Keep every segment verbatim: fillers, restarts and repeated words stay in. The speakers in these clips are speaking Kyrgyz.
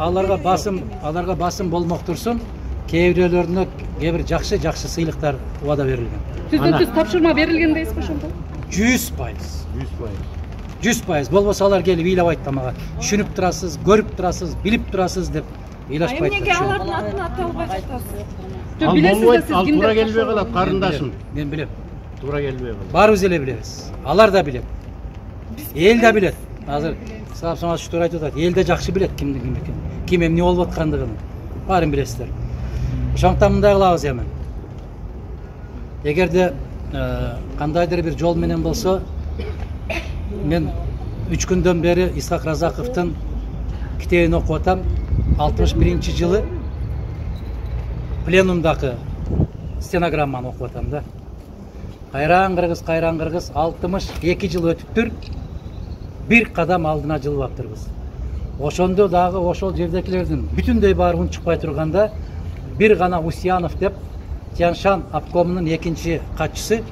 аларга басым аларга басым болмок турсун, кээ бирөөлөрүнө кээ бир жакшы жакшы сыйлыктар убада берилген. Түздөн түз тапшырма берилген дейсизби ошондо? жүз пайыз. жүз пайыз. жүз пайыз. Болбосо алар келип ыйлабайт да мага. Түшүнүп турасыз, көрүп турасыз, билип турасыз деп ыйлашпайт. Эмнеге алардын атын ата албай жатасыз? Жок, билесиз да сиз Ал кимди? туура келбей калат, карындашым. Мен билем. Туура келбей калат. Баарыбыз эле билебиз. Алар да билет. Эл да билет. Азыр Саап Саматович туура айтып атат. Эл да жакшы билет кимдин ким экенин. Ким эмне болуп аткандыгын. Баарын билесиздер. Ошондуктан мындай кылабыз эми. Эгерде кандайдыр бир жол менен болсо, мен үч күндөн бери Исхак Разаковдун китебин окуп атам. алтымыш биринчи жылы пленумдагы стенограмманы окуп атам да. Кайран кыргыз, кайран кыргыз, алтымыш эки жыл өтүптүр. Бир кадам алдына жылбаптырбыз. Ошондо дагы ошол жердекилердин бүтүндөй баары унчукпай турганда бир гана Усьянов деп Тяньшан обкомунун экинчи катчысы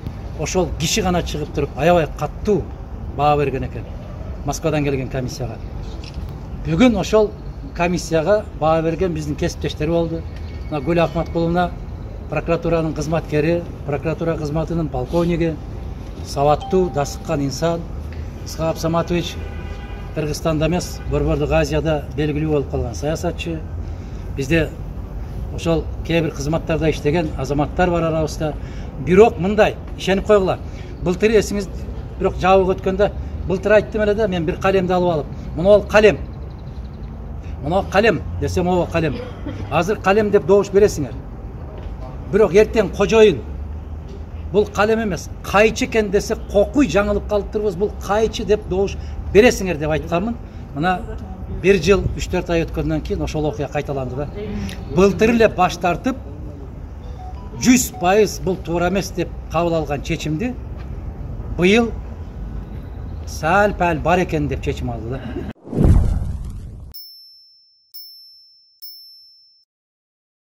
ошол киши гана чыгып туруп аябай каттуу баа берген экен Москвадан келген комиссияга. Бүгүн ошол комиссияга баа берген биздин кесиптештер болду. Мына Гүл Акматкуловна прокуратуранын кызматкери, прокуратура кызматынын полковниги, сабаттуу, дасыккан инсан. Саап Саматович Кыргызстанда эмес, Борбордук Азияда белгилүү болуп калган саясатчы. Бизде ошол кээ бир кызматтарда иштеген азаматтар бар арабызда. Бирок мындай, ишенип койгула. Былтыр эсиңиз бирок жабык өткөндө былтыр айттым эле да, мен бир калемди алып алып, мына ол калем. Мына калем десем, о калем. Азыр калем деп добуш бересиңер. Бирок эртең кожоюн бул калем эмес, кайчы экен десе, кокуй жаңылып калыптырбыз, бул кайчы деп добуш бересиңер деп айтканмын. Мына бир жыл үч төрт ай өткөндөн кийин ошол окуя кайталанды да. Былтыр эле баш тартып жүз пайыз бул туура эмес деп кабыл алган чечимди быйыл сәл-пәл бар экен деп чечим алды да.